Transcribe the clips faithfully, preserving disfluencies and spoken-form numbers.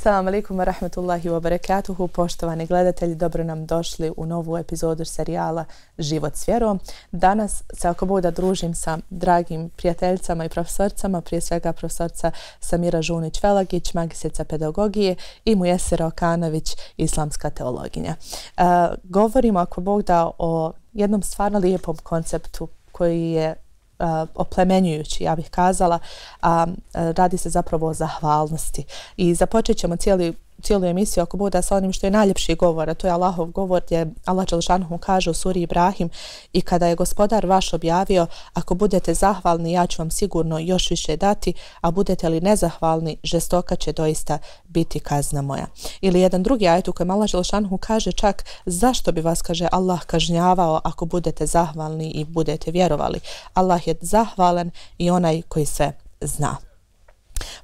Assalamu alaikum wa rahmatullahi wa barakatuhu. Poštovani gledatelji, dobro nam došli u novu epizodu serijala Život s vjerom. Danas se ako Bog da družim sa dragim prijateljicama i profesorcama, prije svega profesorca Samira Žunić-Velagić, magistrica pedagogije i Mujesira Okanović, islamska teologinja. E, govorimo ako Bog da o jednom stvarno lijepom konceptu koji je Uh, oplemenjujući, ja bih kazala, a uh, radi se zapravo o zahvalnosti. I započet ćemo cijeli, cijelu emisiju ako bude sa onim što je najljepši govor, a to je Allahov govor gdje Allah dželešanohu kaže u suri Ibrahim: i kada je gospodar vaš objavio, ako budete zahvalni, ja ću vam sigurno još više dati, a budete li nezahvalni, žestoka će doista biti kazna moja. Ili jedan drugi ajet u kojem Allah dželešanohu kaže čak zašto bi vas, kaže, Allah kažnjavao ako budete zahvalni i budete vjerovali. Allah je zahvalan i onaj koji sve zna.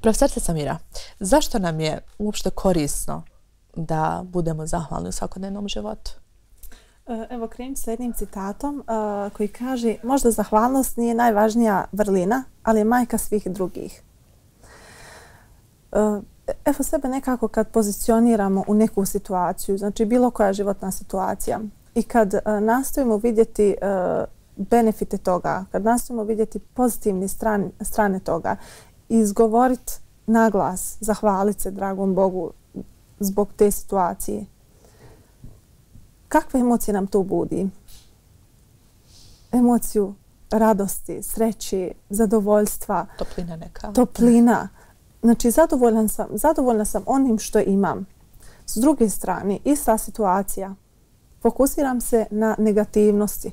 Profesorce Samira, zašto nam je uopšte korisno da budemo zahvalni u svakodnevnom životu? Evo, krenut sa jednim citatom uh, koji kaže: možda zahvalnost nije najvažnija vrlina, ali je majka svih drugih. Uh, evo sebe nekako kad pozicioniramo u neku situaciju, znači bilo koja životna situacija, i kad uh, nastojimo vidjeti uh, benefite toga, kad nastojimo vidjeti pozitivne strane, strane toga, izgovoriti naglas, zahvaliti se dragom Bogu zbog te situacije. Kakve emocije nam to budi? Emociju radosti, sreće, zadovoljstva. Toplina neka. Toplina. Znači, zadovoljna sam, zadovoljna sam onim što imam. S druge strane, ista situacija. Fokusiram se na negativnosti.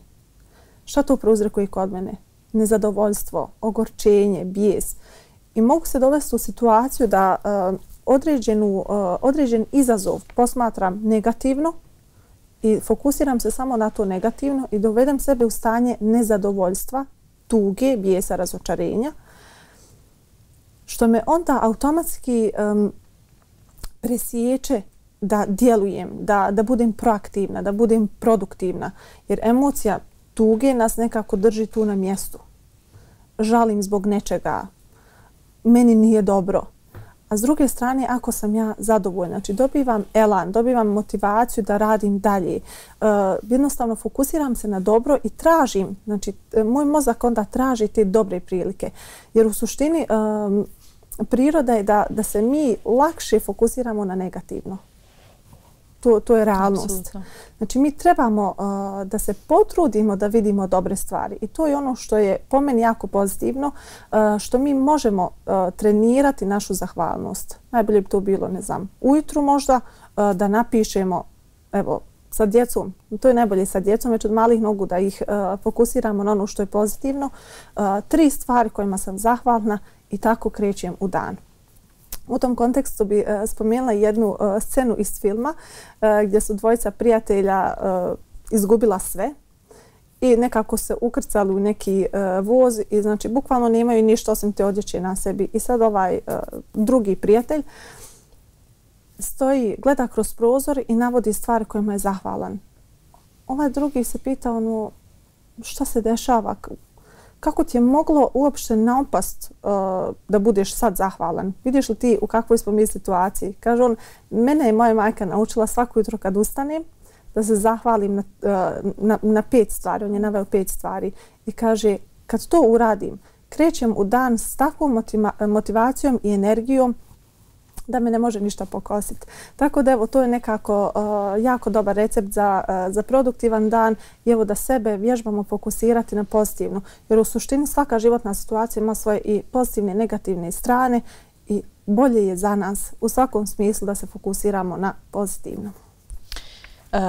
Šta to prouzrokuje kod mene? Nezadovoljstvo, ogorčenje, bijes. I mogu se dovesti u situaciju da uh, određenu, uh, određen izazov posmatram negativno i fokusiram se samo na to negativno i dovedem sebe u stanje nezadovoljstva, tuge, bijesa, razočarenja, što me onda automatski um, presječe da djelujem, da, da budem proaktivna, da budem produktivna, jer emocija tuge nas nekako drži tu na mjestu. Žalim zbog nečega, meni nije dobro. A s druge strane, ako sam ja zadovoljna, znači dobivam elan, dobivam motivaciju da radim dalje, uh, jednostavno fokusiram se na dobro i tražim, znači moj mozak onda traži te dobre prilike. Jer u suštini um, priroda je da, da se mi lakše fokusiramo na negativno. To, to je realnost. Absolutno. Znači mi trebamo uh, da se potrudimo da vidimo dobre stvari i to je ono što je po meni jako pozitivno, uh, što mi možemo uh, trenirati našu zahvalnost. Najbolje bi to bilo, ne znam, ujutru možda uh, da napišemo, evo, sa djecom, to je najbolje sa djecom, već od malih nogu da ih uh, fokusiramo na ono što je pozitivno, uh, tri stvari kojima sam zahvalna i tako krećem u dan. U tom kontekstu bi uh, spomenula jednu uh, scenu iz filma uh, gdje su dvojica prijatelja uh, izgubila sve i nekako se ukrcali u neki uh, voz i znači bukvalno nemaju ništa osim te odjeće na sebi. I sad ovaj uh, drugi prijatelj stoji, gleda kroz prozor i navodi stvari kojima je zahvalan. Ovaj drugi se pita ono, šta se dešava? Kako ti je moglo uopšte naopast uh, da budeš sad zahvalan? Vidiš li ti u kakvoj smo mi situaciji? Kaže on, mene je moja majka naučila svako jutro kad ustanem da se zahvalim na, uh, na, na pet stvari. On je naveo pet stvari i kaže, kad to uradim, krećem u dan s takvom motiva motivacijom i energijom da me ne može ništa pokositi. Tako da evo, to je nekako uh, jako dobar recept za, uh, za produktivan dan i evo da sebe vježbamo fokusirati na pozitivno. Jer u suštini svaka životna situacija ima svoje i pozitivne i negativne strane i bolje je za nas u svakom smislu da se fokusiramo na pozitivno. Uh,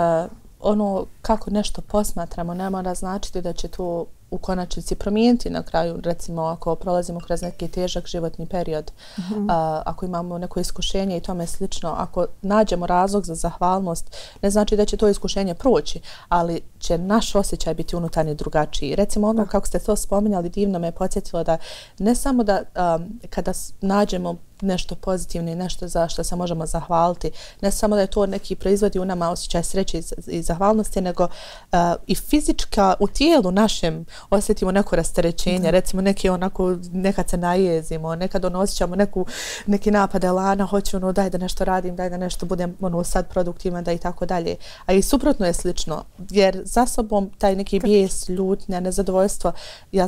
ono kako nešto posmatramo ne mora značiti da će to u konačnici promijeniti na kraju, recimo ako prolazimo kroz neki težak životni period, mm-hmm. a, ako imamo neko iskušenje i tome slično, ako nađemo razlog za zahvalnost, ne znači da će to iskušenje proći, ali će naš osjećaj biti unutarnji drugačiji. Recimo ono kako ste to spominjali, divno me podsjetilo da ne samo da um, kada nađemo nešto pozitivno i nešto za što se možemo zahvaliti. Ne samo da je to neki proizvodi u nama osjećaj sreće i, i zahvalnosti, nego uh, i fizička u tijelu našem osjetimo neko rasterećenje, da. Recimo neki onako, nekad se najezimo, nekad ono osjećamo neku, neki napad elana, hoću ono daj da nešto radim, daj da nešto budem ono sad produktivan, da i tako dalje. A i suprotno je slično, jer za sobom taj neki bijes, ljutnja, nezadovoljstvo, ja,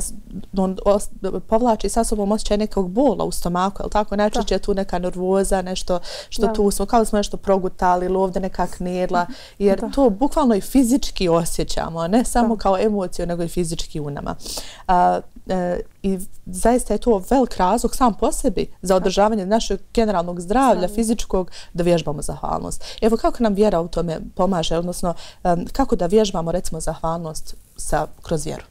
on os, povlači sa sobom osjećaj nekog bola u stomaku, je li tako? Najčešće je tu neka nervoza, nešto što da. Tu smo, kao da smo nešto progutali ili ovdje neka knedla, jer da. To bukvalno i fizički osjećamo, ne samo da. Kao emociju, nego i fizički u nama. A, e, I zaista je to velik razlog sam po sebi za održavanje našeg generalnog zdravlja, da. Fizičkog, da vježbamo zahvalnost. Evo kako nam vjera u tome pomaže, odnosno um, kako da vježbamo recimo zahvalnost sa, kroz vjeru?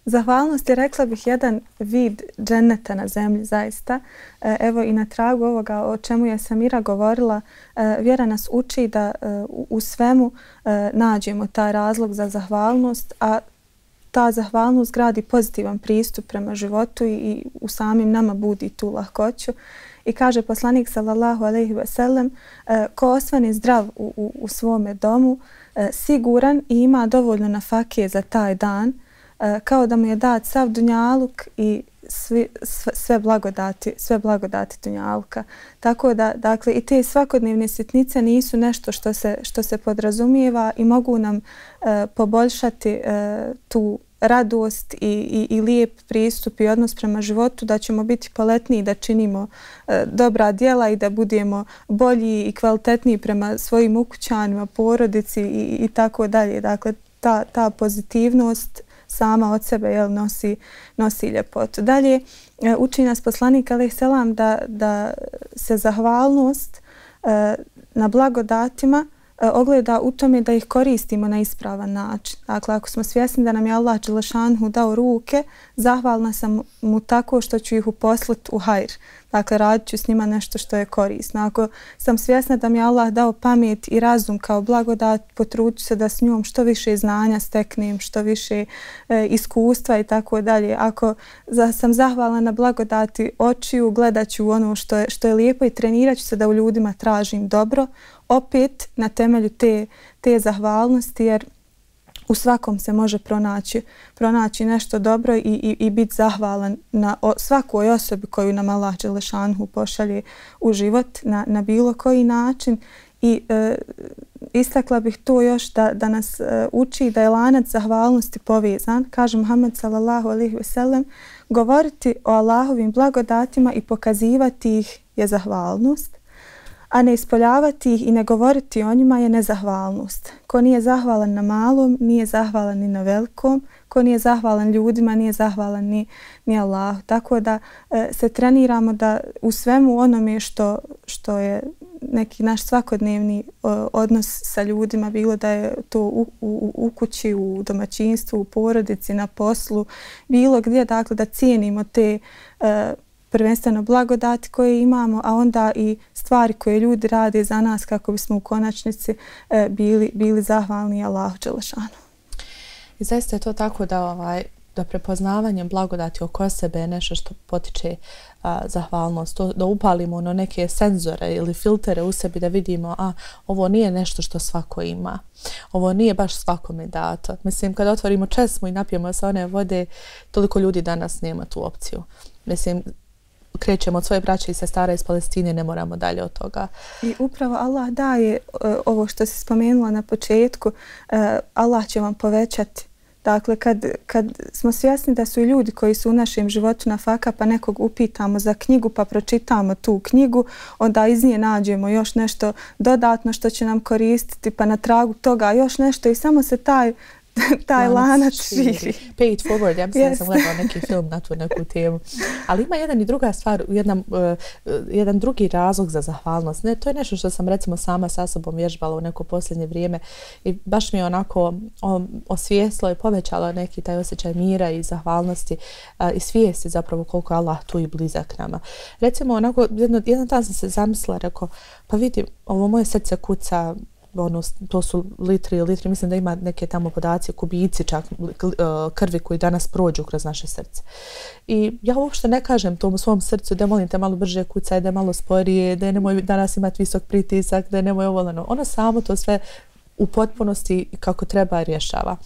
Zahvalnost je, rekla bih, jedan vid dženeta na zemlji, zaista. Evo i na tragu ovoga o čemu je Samira govorila, vjera nas uči da u svemu nađemo taj razlog za zahvalnost, a ta zahvalnost gradi pozitivan pristup prema životu i u samim nama budi tu lahkoću. I kaže poslanik sallallahu alejhi ve sellem, ko osvane zdrav u, u, u svome domu, siguran i ima dovoljno nafake za taj dan, kao da mu je dat sav dunjaluk i svi, sve, sve blagodati, sve blagodati dunjaluka. Tako da, dakle, i te svakodnevne sitnice nisu nešto što se, što se podrazumijeva i mogu nam e, poboljšati e, tu radost i, i, i lijep pristup i odnos prema životu, da ćemo biti poletniji, da činimo e, dobra djela i da budemo bolji i kvalitetniji prema svojim ukućanima, porodici i, i tako dalje. Dakle, ta, ta pozitivnost sama od sebe jel, nosi, nosi ljepotu. Dalje, uči nas poslanik alejhi selam da, da se zahvalnost e, na blagodatima e, ogleda u tome da ih koristimo na ispravan način. Dakle, ako smo svjesni da nam je Allah dželešanhu dao ruke, zahvalna sam mu tako što ću ih uposliti u hajr. Dakle, radit ću s njima nešto što je korisno. Ako sam svjesna da mi je Allah dao pamet i razum kao blagodat, potrudit ću se da s njom što više znanja steknem, što više e, iskustva i tako dalje. Ako za, sam zahvalna na blagodati očiju, gledat ću ono što je, što je lijepo i trenirat ću se da u ljudima tražim dobro, opet na temelju te, te zahvalnosti, jer u svakom se može pronaći, pronaći nešto dobro i, i, i biti zahvalan na o, svakoj osobi koju nam Allah dželešanhu pošalje u život na, na bilo koji način. I e, istakla bih to još da, da nas e, uči da je lanac zahvalnosti povezan. Kaže Muhammed sallallahu alejhi ve sellem, govoriti o Allahovim blagodatima i pokazivati ih je zahvalnost, a ne ispoljavati ih i ne govoriti o njima je nezahvalnost. Ko nije zahvalan na malom, nije zahvalan ni na velikom. Ko nije zahvalan ljudima, nije zahvalan ni, ni Allahu. Tako da e, se treniramo da u svemu onome što, što je neki naš svakodnevni o, odnos sa ljudima, bilo da je to u, u, u kući, u domaćinstvu, u porodici, na poslu, bilo gdje, dakle, da cijenimo te e, prvenstveno blagodati koje imamo, a onda i stvari koje ljudi rade za nas kako bismo u konačnici e, bili, bili zahvalni Allahu dželešanu. I zaista je to tako da, ovaj, da prepoznavanje blagodati oko sebe je nešto što potiče a, zahvalnost, to, da upalimo ono neke senzore ili filtere u sebi da vidimo a ovo nije nešto što svako ima. Ovo nije baš svakome dato. Mislim, kada otvorimo česmu i napijemo se one vode, toliko ljudi danas nema tu opciju. Mislim, krećemo od svoje braće i sestara iz Palestine, ne moramo dalje od toga. I upravo Allah daje uh, ovo što si spomenula na početku, uh, Allah će vam povećati. Dakle, kad, kad smo svjesni da su i ljudi koji su u našem životu na faka, pa nekog upitamo za knjigu, pa pročitamo tu knjigu, onda iz nje nađemo još nešto dodatno što će nam koristiti, pa na tragu toga još nešto i samo se taj taj lanac širi. Pay it forward, ja mislim yes. da sam gledala neki film na tu neku temu. Ali ima jedan i druga stvar, jedan, uh, jedan drugi razlog za zahvalnost. Ne, to je nešto što sam recimo sama sa sobom vježbala u neko posljednje vrijeme i baš mi je onako o, osvijestilo i povećalo neki taj osjećaj mira i zahvalnosti uh, i svijesti zapravo koliko je Allah tu i blizak nama. Recimo onako, jedno, jedan dan sam se zamislila, rekao, pa vidi, ovo moje srce kuca, ono, to su litri, litri, mislim da ima neke tamo podaci, kubici čak krvi koji danas prođu kroz naše srce. I ja uopšte ne kažem tom svom srcu da molim te malo brže kucaj, da je malo sporije, da nemoj danas imati visok pritisak, da nemoj ovo, ono. Ono samo to sve u potpunosti kako treba rješava.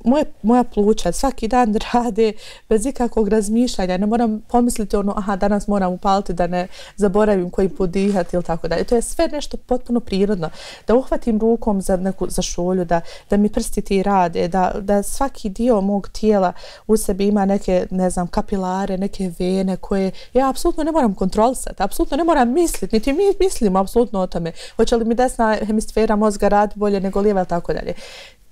Moje, moja pluća svaki dan rade bez ikakvog razmišljanja. Ne moram pomisliti ono, aha, danas moram upaliti da ne zaboravim koji put dihati ili tako dalje. To je sve nešto potpuno prirodno. Da uhvatim rukom za neku za šolju, da, da mi prsti ti rade, da, da svaki dio mog tijela u sebi ima neke, ne znam, kapilare, neke vene koje ja apsolutno ne moram kontrolisati, apsolutno ne moram misliti, niti mi mislimo apsolutno o tome. Hoće li mi desna hemisfera mozga radi bolje nego lijeva ili tako dalje.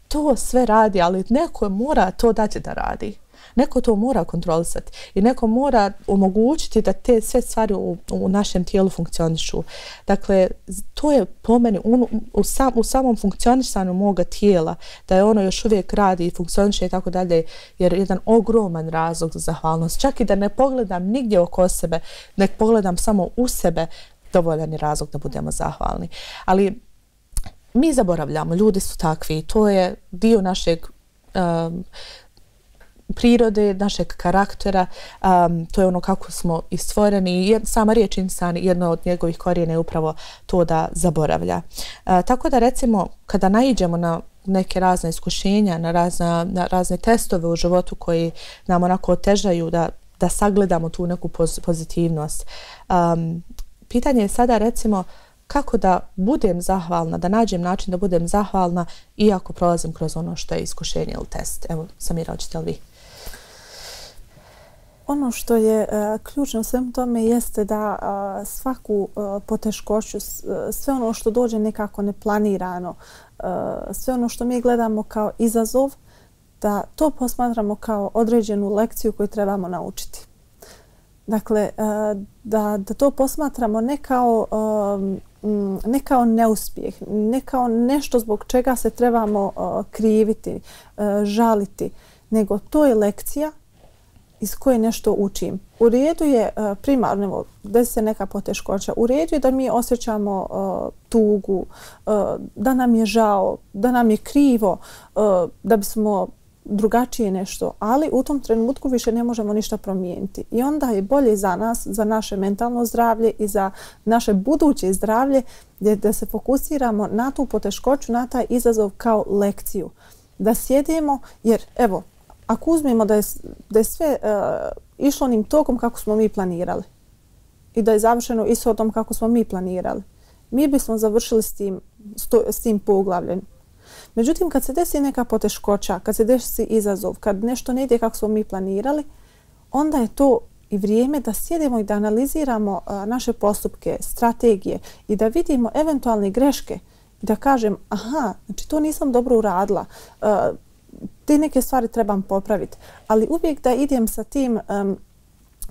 To sve radi, ali neko mora to dati da radi. Neko to mora kontrolisati i neko mora omogućiti da te sve stvari u, u našem tijelu funkcionišu. Dakle, to je po meni u, u, sam, u samom funkcionisanju moga tijela, da je ono još uvijek radi i funkcioniše i tako dalje, jer je jedan ogroman razlog za zahvalnost. Čak i da ne pogledam nigdje oko sebe, nek pogledam samo u sebe, dovoljan je razlog da budemo zahvalni. Ali mi zaboravljamo, ljudi su takvi, to je dio našeg um, prirode, našeg karaktera, um, to je ono kako smo i stvoreni. Jed, sama riječ insan, jedno od njegovih korijena je upravo to da zaboravlja. Uh, tako da recimo kada naiđemo na neke razne iskušenja, na, razna, na razne testove u životu koji nam onako otežaju da, da sagledamo tu neku poz, pozitivnost. Um, pitanje je sada recimo kako da budem zahvalna, da nađem način da budem zahvalna iako prolazim kroz ono što je iskušenje ili test. Evo, Samira, hoćete li vi? Ono što je uh, ključno u svemu tome jeste da uh, svaku uh, poteškoću, sve ono što dođe nekako neplanirano, uh, sve ono što mi gledamo kao izazov, da to posmatramo kao određenu lekciju koju trebamo naučiti. Dakle, uh, da, da to posmatramo ne kao, um, ne kao neuspjeh, ne kao nešto zbog čega se trebamo uh, kriviti, uh, žaliti, nego to je lekcija iz koje nešto učim. U redu je uh, primarno, desi se neka poteškoća, u redu je da mi osjećamo uh, tugu, uh, da nam je žao, da nam je krivo, uh, da bismo drugačije nešto, ali u tom trenutku više ne možemo ništa promijeniti. I onda je bolje za nas, za naše mentalno zdravlje i za naše buduće zdravlje da se fokusiramo na tu poteškoću, na taj izazov kao lekciju. Da sjedimo, jer evo, ako uzmemo da je, da je sve uh, išlo onim tokom kako smo mi planirali i da je završeno ishodom kako smo mi planirali, mi bismo završili s tim, s tim poglavljem. Međutim, kad se desi neka poteškoća, kad se desi izazov, kad nešto ne ide kako smo mi planirali, onda je to i vrijeme da sjedimo i da analiziramo uh, naše postupke, strategije i da vidimo eventualne greške i da kažem, aha, znači to nisam dobro uradila, uh, te neke stvari trebam popraviti, ali uvijek da idem sa tim um,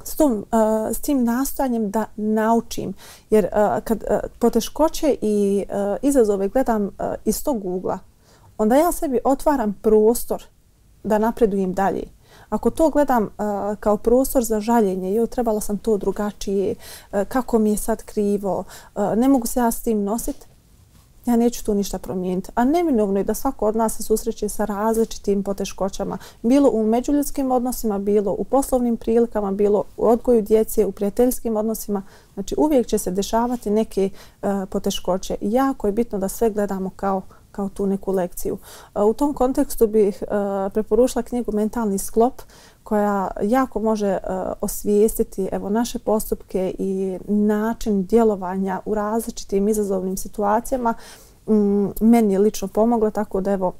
s, tom, uh, s tim nastojanjem da naučim, jer uh, kad uh, poteškoće i uh, izazove gledam uh, iz tog ugla, onda ja sebi otvaram prostor da napredujem dalje. Ako to gledam uh, kao prostor za žaljenje, jo, trebala sam to drugačije, uh, kako mi je sad krivo, uh, ne mogu se ja s tim nositi, ja neću tu ništa promijeniti. A neminovno je da svako od nas se susreće sa različitim poteškoćama. Bilo u međuljudskim odnosima, bilo u poslovnim prilikama, bilo u odgoju djece, u prijateljskim odnosima. Znači uvijek će se dešavati neke uh, poteškoće. I jako je bitno da sve gledamo kao, kao tu neku lekciju. Uh, u tom kontekstu bih uh, preporučila knjigu Mentalni sklop, koja jako može uh, osvijestiti evo, naše postupke i način djelovanja u različitim izazovnim situacijama. Mm, meni je lično pomogla, tako da evo,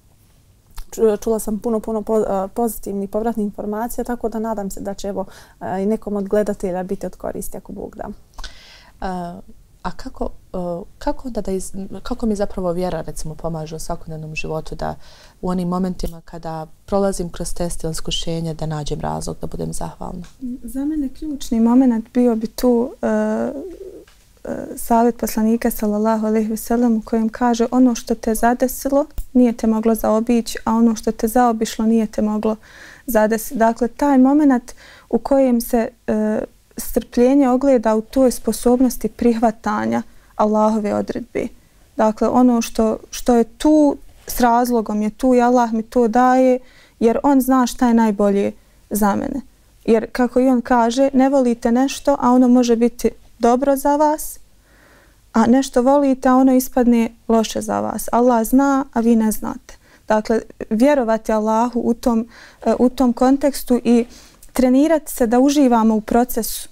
čula sam puno, puno po, uh, pozitivnih povratnih informacija, tako da nadam se da će evo, uh, i nekom od gledatelja biti od koristi ako Bog da. Uh, a kako, uh, kako, onda da iz, kako mi zapravo vjera recimo pomaže u svakodnevnom životu da u onim momentima kada prolazim kroz test ili iskušenje da nađem razlog da budem zahvalna? Za mene ključni moment bio bi tu uh, uh, savjet poslanika sallallahu alejhi ve sellem u kojem kaže ono što te zadesilo nije te moglo zaobići, a ono što te zaobišlo nije te moglo zadesiti. Dakle, taj moment u kojem se uh, strpljenje ogleda u toj sposobnosti prihvatanja Allahove odredbe. Dakle, ono što, što je tu s razlogom je tu i Allah mi to daje jer on zna šta je najbolje za mene. Jer kako i on kaže, ne volite nešto, a ono može biti dobro za vas, a nešto volite, a ono ispadne loše za vas. Allah zna, a vi ne znate. Dakle, vjerovati Allahu u tom, u tom kontekstu i trenirati se da uživamo u procesu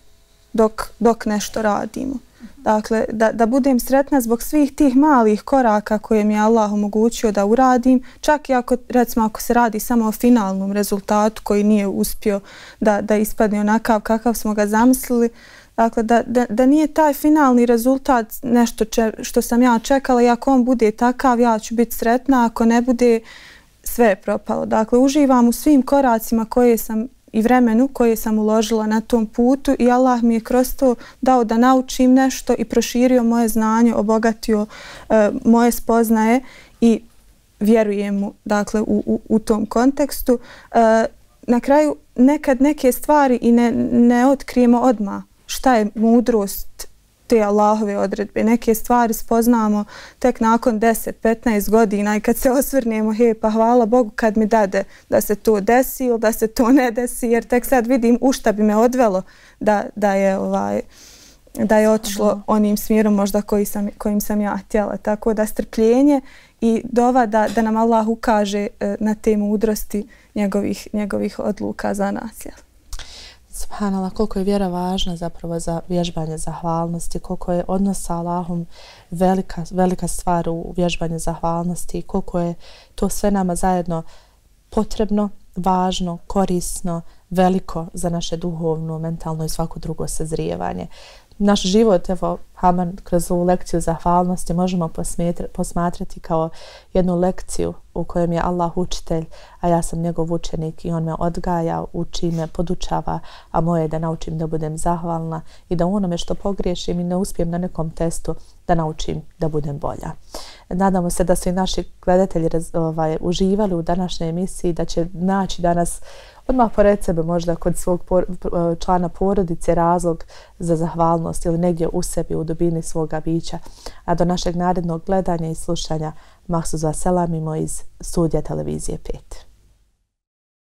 dok, dok nešto radimo. Dakle, da, da budem sretna zbog svih tih malih koraka koje mi je Allah omogućio da uradim, čak i ako, recimo, ako se radi samo o finalnom rezultatu koji nije uspio da, da ispadne onakav kakav smo ga zamislili. Dakle, da, da, da nije taj finalni rezultat nešto če, što sam ja čekala i ako on bude takav, ja ću biti sretna, ako ne bude, sve je propalo. Dakle, uživam u svim koracima koje sam i vremenu koje sam uložila na tom putu i Allah mi je kroz to dao da naučim nešto i proširio moje znanje, obogatio uh, moje spoznaje i vjerujem mu, dakle, u, u, u tom kontekstu. Uh, na kraju nekad neke stvari i ne, ne otkrijemo odmah šta je mudrost te Allahove odredbe. Neke stvari spoznamo tek nakon deset petnaest godina i kad se osvrnemo, he, pa hvala Bogu kad mi dade da se to desi ili da se to ne desi, jer tek sad vidim u šta bi me odvelo da, da je ovaj da je otišlo onim smjerom možda koji sam, kojim sam ja htjela. Tako da strpljenje i dova da, da nam Allah ukaže na te mudrosti njegovih, njegovih odluka za nas. Jel? Subhanallah, koliko je vjera važna zapravo za vježbanje zahvalnosti, koliko je odnos sa Allahom velika, velika stvar u vježbanju zahvalnosti, koliko je to sve nama zajedno potrebno, važno, korisno, veliko za naše duhovno, mentalno i svako drugo sazrijevanje. Naš život, evo, Haman, kroz ovu lekciju zahvalnosti možemo posmatrati kao jednu lekciju u kojem je Allah učitelj, a ja sam njegov učenik i on me odgaja, uči me, podučava, a moje je da naučim da budem zahvalna i da u onome što pogriješim i ne uspijem na nekom testu da naučim da budem bolja. Nadamo se da su i naši gledatelji ovaj, uživali u današnjoj emisiji, da će naći danas odmah pored sebe možda kod svog por, člana porodice razlog za zahvalnost ili negdje u sebi u dubini svoga bića. A do našeg narednog gledanja i slušanja mahsus vas selamimo iz studija televizije pet.